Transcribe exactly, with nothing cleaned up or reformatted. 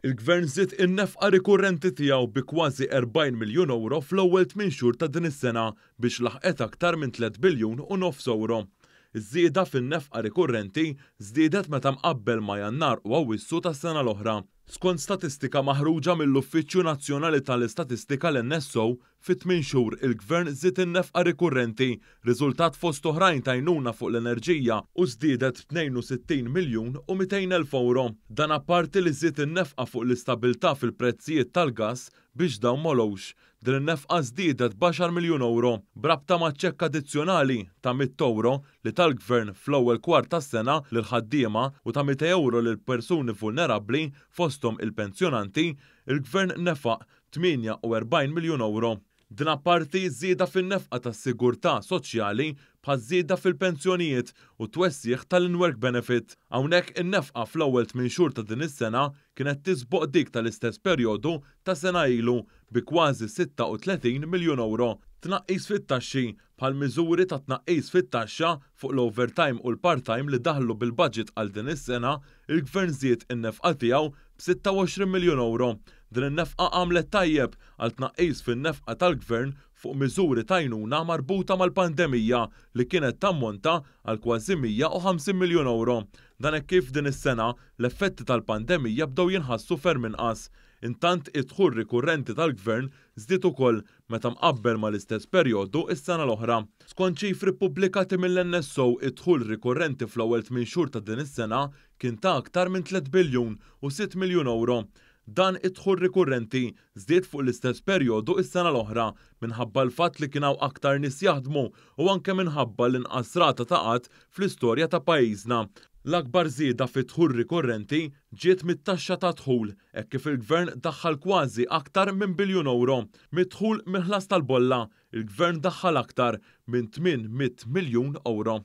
Il-Gvern żied in-nefqa rikurrenti tiegħu bi kważi erbgħin miljun ewro fl-ewwel tmien xhur ta' din is-sena biex laħqet aktar minn tliet biljun u nofs ewro. Iż-żieda fin-nefqa rikurrenti żdiedet meta mqabbel ma' Jannar u Awwissu tas-sena l-oħra. Skont statistika maħruġa mill-Uffiċċju Nazzjonali tal-Istatistika l-N S O, fi tmien xhur il-Gvern żied in-nefqa rikurrenti, riżultat fost oħrajn ta' għajnuna fuq l-enerġija u żdiedet b'tnejn u sittin miljun u mitejn elf ewro. Dan apparti li żied in-nefqa fuq l-istabilità fil-prezzijiet tal-gass biex dawn m'għolewx. Din in-nefqa żdiedet b'għaxar miljun ewro b'rabta ma' ċekk addizzjonali ta' mitt ewro li tal-Gvern fl-ewwel kwart tas-sena lil ħaddiema u ta' mitej ewro lil persuni vulnerabbli fosthom il-pensjonanti, il-Gvern nefaq tmienja u erbgħin miljun ewro. Din apparti żieda fin-nefqa tas-sigurtà soċjali bħal żieda fil-pensjonijiet u twessiegħ tal-in-work benefit. Hawnhekk in-nefqa fl-ewwel tmien xhur ta' din is-sena kienet tisboq dik tal-istess perjodu ta' sena ilu bi kważi sitta u tletin miljun ewro. Tnaqqis fit-taxxi bħal miżuri ta' tnaqqis fit-taxxa fuq l-overtime u l-part-time li daħlu bil-budget għal din is-sena, il-Gvern żied in-nefqa tiegħu b'sitta u għoxrin miljun ewro. Din in-nefqa għamlet tajjeb għal tnaqqis fin-nefqa tal-Gvern fuq miżuri ta' għajnuna marbuta mal-pandemija li kienet tammonta għal kważi mija u ħamsin miljun ewro. Dan hekk kif din is-sena l-effetti tal-pandemija bdew jinħassu ferm inqas. Intant id-dħul rikurrenti tal-Gvern żdied ukoll meta mqabbel mal-istess perjodu is-sena l-oħra. Skont ċifri ppubblikati mill-N S O, id-dħul rikurrenti fl-ewwel tmien xhur ta' din is-sena kien ta' aktar minn tliet biljun u sitt miljun ewro. Dan id-dħul rikurrenti żdied fuq l-istess perjodu is-sena l-oħra minħabba l-fatt li kien hawn aktar nies jaħdmu u anke minħabba l-inqas rata ta' qgħad fl-istorja ta' pajjiżna. L-akbar żieda fid-dħul rikurrenti ġiet mit-taxxa ta' dħul, hekk kif il-Gvern daħħal kważi aktar minn biljun ewro. Mid-dħul mill-ħlas tal-bolla, il-Gvern daħħal aktar minn tmien mitt miljun ewro.